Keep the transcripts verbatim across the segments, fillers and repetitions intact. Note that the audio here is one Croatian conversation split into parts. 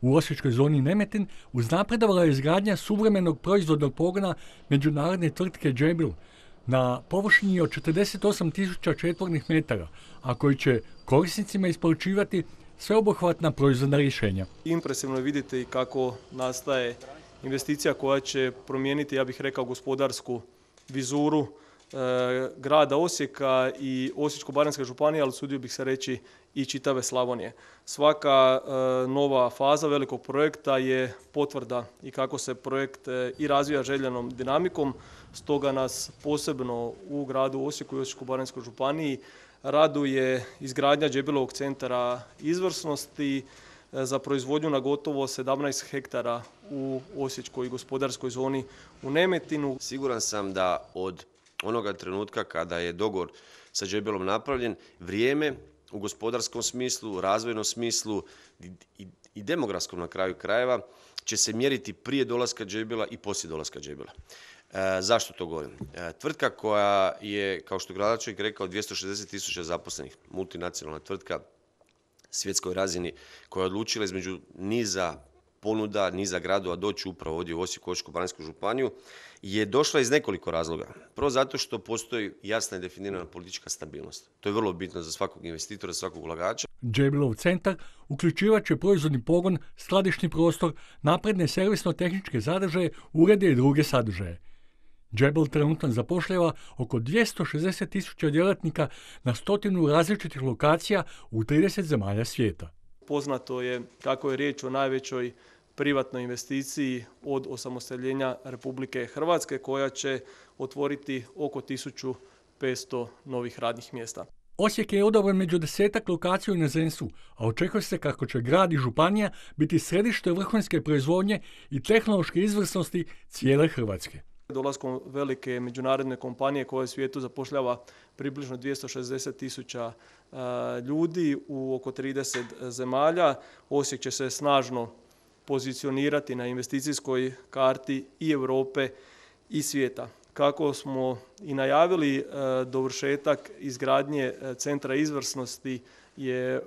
U osječkoj zoni Nemetin uznapredovala je izgradnja suvremenog proizvodnog pogona međunarodne tvrtke Jabil na površini od četrdeset osam tisuća četvornih metara, a koji će korisnicima isporučivati sveobuhvatna proizvodna rješenja. Impresivno je vidjeti kako nastaje investicija koja će promijeniti, ja bih rekao, gospodarsku vizuru e, grada Osijeka i Osječko-baranjske županije, ali usudio bih se reći i čitave Slavonije. Svaka e, nova faza velikog projekta je potvrda i kako se projekt e, i razvija željenom dinamikom, stoga nas posebno u gradu Osijeku i Osječko-baranjskoj županiji raduje izgradnja Jabilovog centra izvrsnosti za proizvodnju na gotovo sedamnaest hektara u osječkoj gospodarskoj zoni u Nemetinu. Siguran sam da od onoga trenutka kada je dogovor sa Jabilom napravljen, vrijeme u gospodarskom smislu, razvojnom smislu i, i demografskom na kraju krajeva će se mjeriti prije dolaska Jabila i poslije dolaska Jabila. E, zašto to govorim? E, tvrtka koja je, kao što gradonačelnik rekao, dvjesto šezdeset tisuća zaposlenih, multinacionalna tvrtka svjetskoj razini, koja je odlučila između niza ponuda, niza gradova doći upravo ovdje u Osijeku, Osječko-baranjsku županiju, je došla iz nekoliko razloga. Prvo zato što postoji jasna i definirana politička stabilnost. To je vrlo bitno za svakog investitora, za svakog ulagača. Jabilov centar uključivat će proizvodni pogon, skladišni prostor, napredne servisno-tehničke sadržaje, urede i druge sadržaje. Jabil trenutno zapošljava oko dvjesto šezdeset tisuća djelatnika na stotinu različitih lokacija u trideset zemalja svijeta. Poznato je kako je riječ o najvećoj privatnoj investiciji od osamostaljenja Republike Hrvatske koja će otvoriti oko tisuću petsto novih radnih mjesta. Osijek je odabran među desetak lokacija u inozemstvu, a očekuje se kako će grad i županija biti središte vrhunske proizvodnje i tehnološke izvrsnosti cijele Hrvatske. Dolaskom velike međunarodne kompanije koja u svijetu zapošljava približno dvjesto šezdeset tisuća ljudi u oko trideset zemalja, Osijek će se snažno pozicionirati na investicijskoj karti i Europe i svijeta. Kako smo i najavili, dovršetak izgradnje centra izvrsnosti je,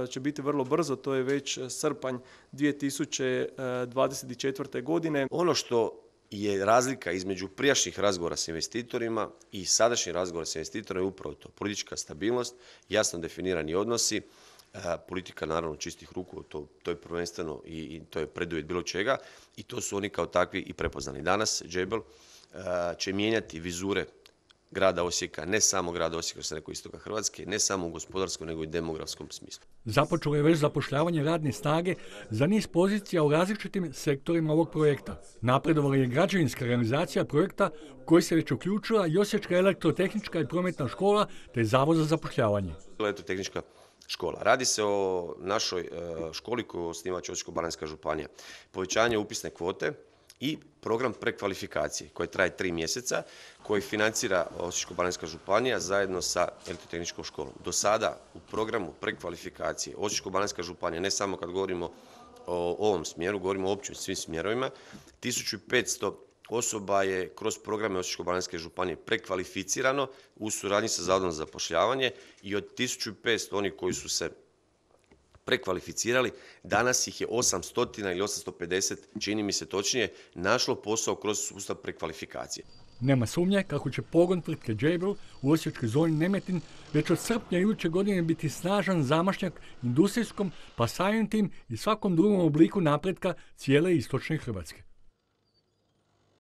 će biti vrlo brzo, to je već srpanj dvije tisuće dvadeset četvrte. godine. Ono što je razlika između prijašnjih razgovora s investitorima i sadašnjih razgovora s investitorima je upravo to. Politička stabilnost, jasno definirani odnosi, politika naravno čistih ruku, to, to je prvenstveno i, i to je preduvjet bilo čega i to su oni kao takvi i prepoznali. Danas Jabil će mijenjati vizure grada Osijeka, ne samo grada Osijeka, što sam rekao, istoka Hrvatske, ne samo u gospodarskom, nego i demografskom smislu. Započelo je već zapošljavanje radne snage za niz pozicija u različitim sektorima ovog projekta. Napredovala je građevinska realizacija projekta u koji se već uključila i Osječka elektrotehnička i prometna škola te Zavod za zapošljavanje. Elektrotehnička škola. Radi se o našoj školi koju osniva Osječko-baranjska županija. Povećanje upisne kvote i program prekvalifikacije koji traje tri mjeseca, koji financira Osječko-baranjska županija zajedno sa elektrotehničkom školom. Do sada u programu prekvalifikacije Osječko-baranjska županija, ne samo kad govorimo o ovom smjeru, govorimo o općim svim smjerovima, tisuću petsto osoba je kroz programe Osječko-baranjske županije prekvalificirano u suradnji sa Zavodom za zapošljavanje i od tisuću petsto onih koji su se prekvalificirali, danas ih je osamsto ili osamsto pedeset, čini mi se točnije, našlo posao kroz sustav prekvalifikacije. Nema sumnje kako će pogon tvrtke Jabil u osječkoj zoni Nemetin već od srpnja iduće godine biti snažan zamašnjak industrijskom, pa samim tim i svakom drugom obliku napretka cijele istočne Hrvatske.